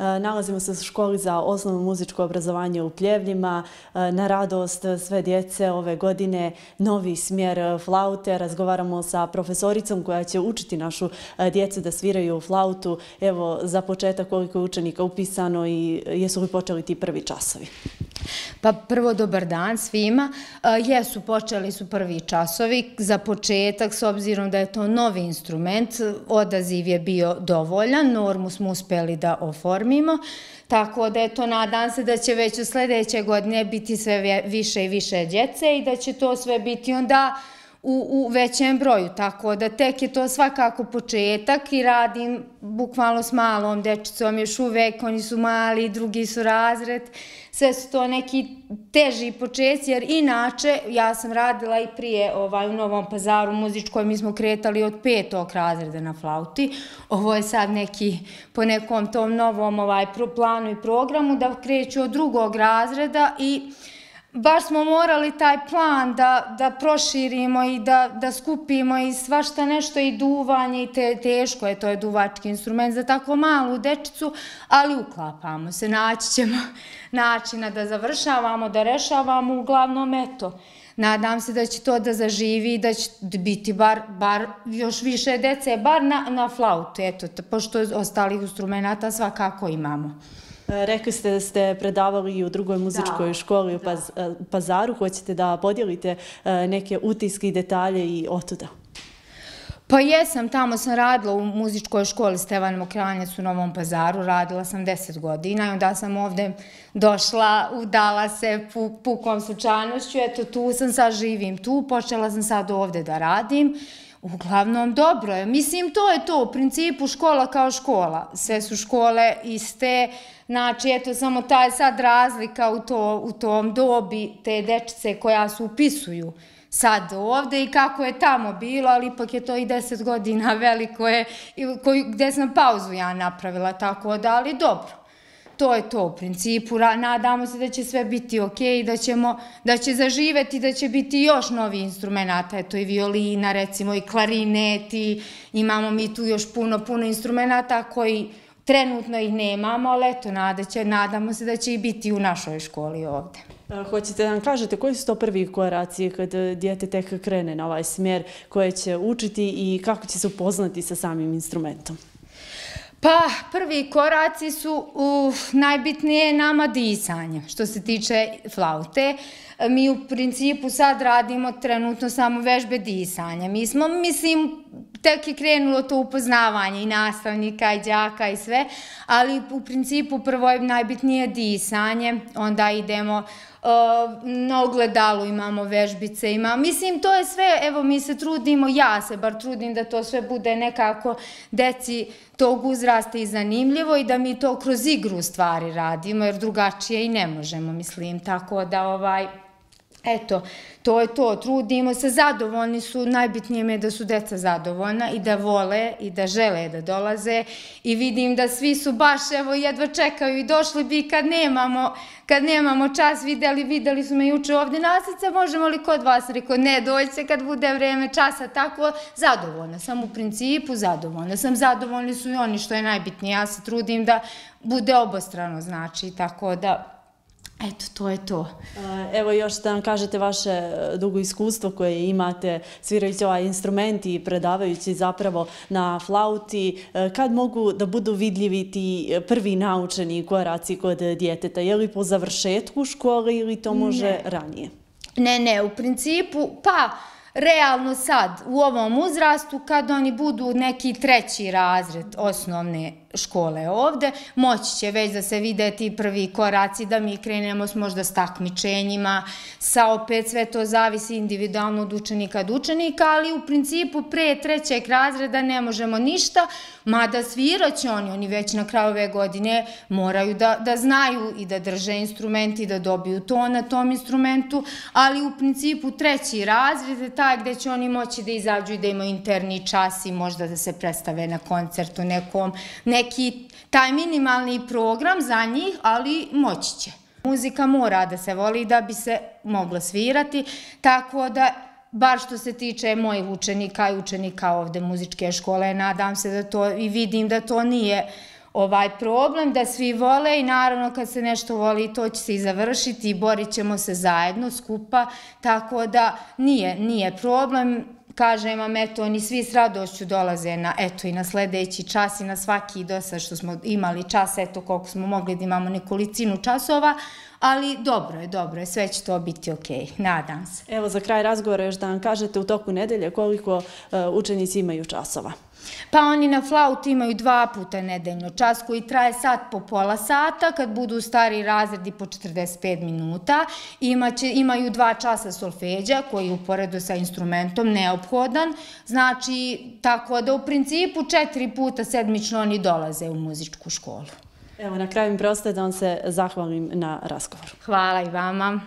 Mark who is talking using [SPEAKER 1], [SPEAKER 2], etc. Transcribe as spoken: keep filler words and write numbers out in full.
[SPEAKER 1] Nalazimo se u školi za osnovno muzičko obrazovanje u Pljevljima. Na radost sve djece ove godine novi smjer flaute. Razgovaramo sa profesoricom koja će učiti našu djecu da sviraju flautu. Evo, za početak koliko je učenika upisano i jesu li počeli ti prvi časovi?
[SPEAKER 2] Pa prvo dobar dan svima. Jesu, počeli su prvi časovi. Za početak, s obzirom da je to novi instrument, odaziv je bio dovoljan, normu smo uspjeli da oformimo, tako da je to, nadam se da će već u sljedeće godine biti sve više i više djece i da će to sve biti onda U, u većem broju, tako da tek je to svakako početak i radim bukvalno s malom dečicom, još uvek, oni su mali, drugi su razred, sve su to neki teži počeci, jer inače ja sam radila i prije ovaj, u Novom Pazaru muzičkoj, mi smo kretali od petog razreda na flauti, ovo je sad neki po nekom tom novom ovaj, planu i programu da kreću od drugog razreda i baš smo morali taj plan da, da proširimo i da, da skupimo i svašta nešto i duvanje i te, teško je, to je duvački instrument za tako malu dečicu, ali uklapamo se, naći ćemo načina da završavamo, da rešavamo, uglavnom eto. Nadam se da će to da zaživi i da će biti bar, bar još više dece, bar na, na flautu, eto, pošto ostalih instrumenta svakako imamo.
[SPEAKER 1] Rekli ste da ste predavali i u drugoj muzičkoj školi u Pazaru. Hoćete da podijelite neke utiske i detalje i otuda?
[SPEAKER 2] Pa jesam, tamo sam radila u muzičkoj školi Stevan Mokranjac u Novom Pazaru, radila sam deset godina i onda sam ovdje došla, udala se pukom slučajnošću, eto tu sam, sad živim tu, počela sam sad ovdje da radim. Uglavnom, dobro je. Mislim, to je to. U principu, škola kao škola. Sve su škole iste. Znači, eto, samo ta je sad razlika u, to, u tom dobi te dečice koja se upisuju sad ovdje i kako je tamo bilo, ali ipak je to i deset godina veliko je, koju, gdje sam pauzu ja napravila, tako da, ali dobro. To je to u principu, nadamo se da će sve biti ok, da, ćemo, da će zaživeti, da će biti još novi instrumenta, eto i violina, recimo i klarinet, i imamo mi tu još puno, puno instrumenta koji trenutno ih nemamo, ali eto, nadamo se da će i biti u našoj školi ovdje.
[SPEAKER 1] Hoćete da nam kažete koji su to prvi koraci kad dijete tek krene na ovaj smjer koje će učiti i kako će se upoznati sa samim instrumentom?
[SPEAKER 2] Pa, prvi koraci su uh, najbitnije nama disanje, što se tiče flaute. Mi u principu sad radimo trenutno samo vežbe disanja. Mi smo, mislim, tek je krenulo to upoznavanje i nastavnika i đaka i sve, ali u principu prvo je najbitnije disanje, onda idemo Uh, na ogledalu imamo vežbice, ima, mislim to je sve, evo mi se trudimo, ja se bar trudim da to sve bude nekako deci tog uzrasta i zanimljivo i da mi to kroz igru stvari radimo, jer drugačije i ne možemo, mislim, tako da ovaj, eto, to je to, trudimo se, zadovoljni su, najbitnije mi je da su deca zadovoljna i da vole i da žele da dolaze i vidim da svi su baš, evo, jedva čekaju i došli bi kad nemamo, kad nemamo čas, videli, videli su me juče ovdje nastavnice, možemo li kod vas, rekao, ne, dođe kad bude vreme časa, tako, zadovoljna sam u principu, zadovoljna sam, zadovoljni su i oni, što je najbitnije, ja se trudim da bude obostrano, znači, tako da, eto, to je to.
[SPEAKER 1] Evo još da nam kažete vaše dugo iskustvo koje imate svirajući ovaj instrument i predavajući zapravo na flauti. Kad mogu da budu vidljivi ti prvi naučeni koraci kod djeteta? Je li po završetku škole ili to može ne. ranije?
[SPEAKER 2] Ne, ne, u principu, pa realno sad, u ovom uzrastu, kad oni budu neki treći razred osnovne škole ovde, moći će već da se vide ti prvi koraci, da mi krenemo s možda s takmičenjima, sa opet sve to zavisi individualno od učenika do učenika, ali u principu pre trećeg razreda ne možemo ništa, mada svirat će oni, oni već na kraju ove godine moraju da, da znaju i da drže instrument i da dobiju to na tom instrumentu, ali u principu treći razred je taj gde će oni moći da izađu i da imaju interni čas i možda da se predstave na koncertu nekom, neki taj minimalni program za njih, ali moći će. Muzika mora da se voli da bi se mogla svirati, tako da, bar što se tiče mojih učenika i učenika ovde muzičke škole, nadam se da to i vidim da to nije ovaj problem, da svi vole i naravno kad se nešto voli to će se i završiti i borit ćemo se zajedno, skupa, tako da nije, nije problem. Kažem vam, eto, oni svi s radošću dolaze na, eto, i na sledeći čas i na svaki do sad što smo imali čas, eto, koliko smo mogli da imamo nekolicinu časova, ali dobro je, dobro je, sve će to biti okej, nadam se.
[SPEAKER 1] Evo, za kraj razgovora još da nam kažete u toku nedelje koliko učenici imaju časova.
[SPEAKER 2] Pa oni na flauti imaju dva puta nedeljno čas koji traje sat po pola sata, kad budu stari razredi po četrdeset pet minuta. Imaju dva časa solfeđa koji uporedo sa instrumentom neophodan. Znači, tako da u principu četiri puta sedmično oni dolaze u muzičku školu.
[SPEAKER 1] Evo, na kraju mi preostaje da vam se zahvalim na razgovoru.
[SPEAKER 2] Hvala i vama.